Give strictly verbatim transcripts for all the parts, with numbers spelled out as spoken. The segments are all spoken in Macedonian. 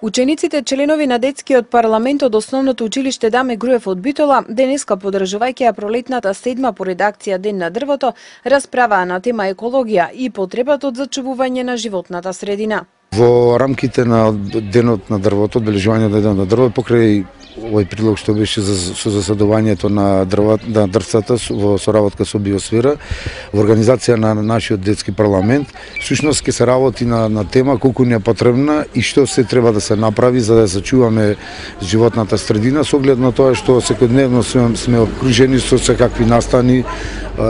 Учениците членови на детскиот парламент од Основното училиште Даме Груев од Битола, денеска подржувајќи ја пролетната седма по редакција Ден на дрвото, расправаа на тема екологија и потребата од зачувување на животната средина. Во рамките на Денот на дрвото, одбележување на Денот на дрвото, покрај овој прилог што беше за, со засадувањето на дрва, на дрвцата во соработка со Биосфера, во организација на нашиот детски парламент, всушност ќе се работи на, на тема колку ни е потребна и што се треба да се направи за да зачуваме животната средина, со оглед на тоа што секојдневно сме, сме обкружени со секакви настани,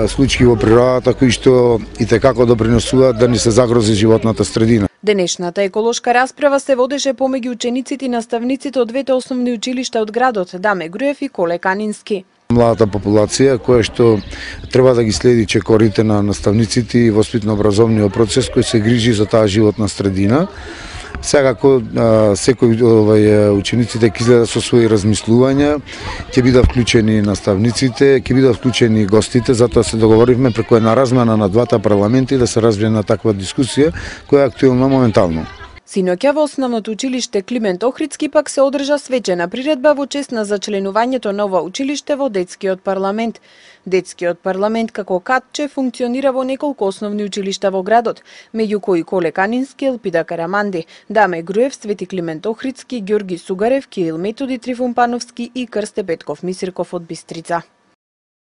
случаи во природата кои што и текако допринесуваат да ни се загрози животната средина. Денешната еколошка расправа се водеше помеѓу учениците и наставниците од двете основни училишта од градот Даме Груев и Коле Канински. Младата популација која што треба да ги следи чекорите на наставниците и воспитно-образовниот процес кој се грижи за таа животна средина. Секако секој овај учениците ќе изледа со своји размислувања, ќе бидат вклучени наставниците, ќе бидат вклучени гостите, затоа се договоривме преку една размена на двата парламенти да се развие на таква дискусија која е актуелна моментално. Синоќа во Основното училиште Климент Охридски пак се одржа свечена приредба во чест на зачленувањето на ова училиште во детскиот парламент. Детскиот парламент како катче функционира во неколку основни училишта во градот, меѓу кои Коле Канински, Елпида Караманди, Даме Груев, Свети Климент Охридски, Ѓорги Сугарев, Кирил Методи Трифун Пановски и Крсте Петков Мисирков од Бистрица.